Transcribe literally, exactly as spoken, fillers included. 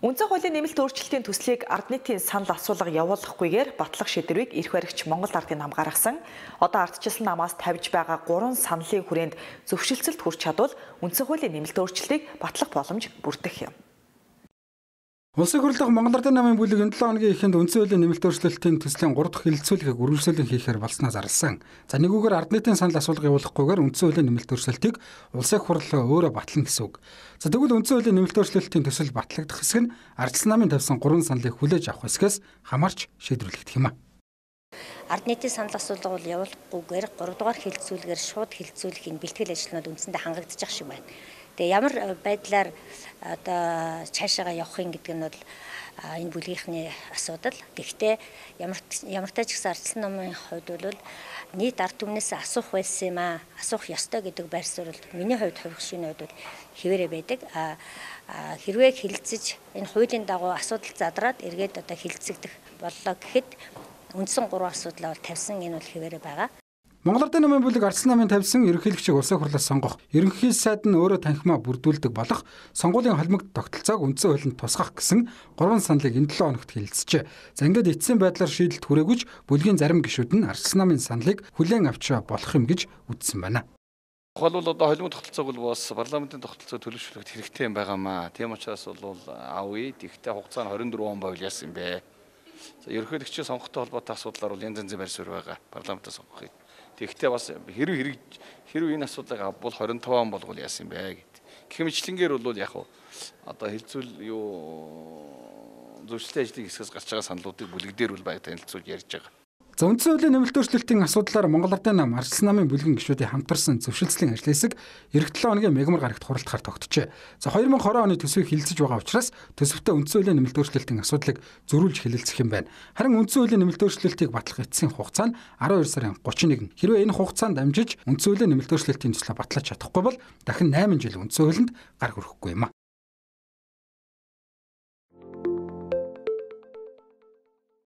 Үндсэн хуулийн нэмэлт өөрчлөлтийн төслийг ард нийтийн санал асуулга явуулахгүйгээр батлах шийдвэрийг эрх баригч Монгол ардын нам гаргасан. Одоо ардчилсан намаас тавьж байгаа гурван саналын хүрээнд зөвшөлтсөлд хүрч чадвал үндсэн хуулийн нэмэлт өөрчлөлтийг батлах боломж бүрдэх юм. Улсын хурлын Монгол Ардын намын бүлэг энэ долоо хоногийн эхэнд үндсэн хуулийн нэмэлт өөрчлөлтийн төслийн гурав дахь хэлэлцүүлгийг үргэлжлүүлэн хийхээр болсноо зарласан. За нэгүгээр ард нийтийн санал асуулга явуулахгүйгээр үндсэн хуулийн нэмэлт өөрчлөлтийг улсын хурл өөрөө батлана гэсэн үг. За тэгвэл үндсэн хуулийн нэмэлт өөрчлөлтийн төсөл батлагдах хэсэг нь ардчилсан намын тавьсан гурван саналыг хүлээж авах хэсгээс хамаарч шийдвэрлэгдэх юм а. Ард нийтийн санал асуулга бол явуулахгүйгээр гурав дахь хэлэлцүүлгээр шууд хэлэлцүүлэхийн бэлтгэл ажлууд үндсэндээ хангагдчих шиг байна. Тэгээ ямар байдлаар одоо цаашаага явахын гэдэг нь бол энэ бүлгийнхний асуудал. Гэхдээ ямар ямар ч гэсэн ардчилсан намын хувьд бол нийт ард түмнээс асуух байсан юм аа, асуух ёстой гэдэг байр суурь миний хувьд хувь шинэ хувьд хэвээрээ байдаг. А хэрвээ хилцэж энэ хуулийн дагуу асуудал задраад эргээд одоо хилцэгдэх боллоо гэхэд үндсэн гурван асуудлаа бол тавьсан энэ бол хэвээрээ байгаа. Монгол Ардын намын бүлэг ардчилсан намын тавьсан ерөнхийлөгчийг улсын хурлаас сонгох, ерөнхий сайд нь өөрөө танхимаа бүрдүүлдэг болох сонгуулийн холбогд тогтолцоог үндсэн хуулинд тусгах гэсэн гурван саналыг энэ долоо хоногт хэлэлцжээ. За ингээд эцсийн байдлаар шийдэлт хүрээгүйч бүлгийн зарим гишүүд нь ардчилсан намын саналыг хүлээн авч болох юм гэж үзсэн байна. Тухайл бол одоо холимог тогтолцоог бол бас парламентын тогтолцоо төлөвшүүлэхэд хэрэгтэй юм байгаамаа. Тийм учраас бол авъя. Тэгтээ хугацаа нь хорин дөрвөн он байвал яасан юм бэ? За ерөнхийлөгчийн сонгохтой холбоотой асуудлаар бол янз янзын байр суурь байгаа. Парламентаас сонгохыг. Тэгвэл бас хэрв хэрэг хэрв энэ асуудлыг авбал хорин таван он болгол яасан юм бэ гэд. Гэх мэтлэнгээр бол яг одоо хэлцүүл юу зөвшөлтийн ажлын хэсгээс гарч байгаа саналуудыг бүлэгдээр бол баяр танилцуулж ярьж байгаа. За үндсэн хуулийн нэмэлт өөрчлөлтийн асуудлаар Монгол Ардын нам ардчилсан намын бүлгийн гишүүдийн хамтарсан зөвшөлтслийн ажлын хэсэг эх долоо хоногийн мегмар гарагт хуралдахаар тогтжээ. За две тысячи двадцать оны төсвийг хилцэж байгаа учраас төсөвтэй үндсэн хуулийн нэмэлт өөрчлөлтийн асуудлыг зөрүүлж хэлэлцэх юм байна. Харин үндсэн хуулийн нэмэлт өөрчлөлтийг батлах эцсийн хугацаа нь twelve сарын thirty-one. Хэрвээ энэ хугацаанд амжиж үндсэн хуулийн нэмэлт өөрчлөлтийн төслөө батлаж чадахгүй бол дахин eight жил үндсэн хуулинд гар хүрэхгүй юм а.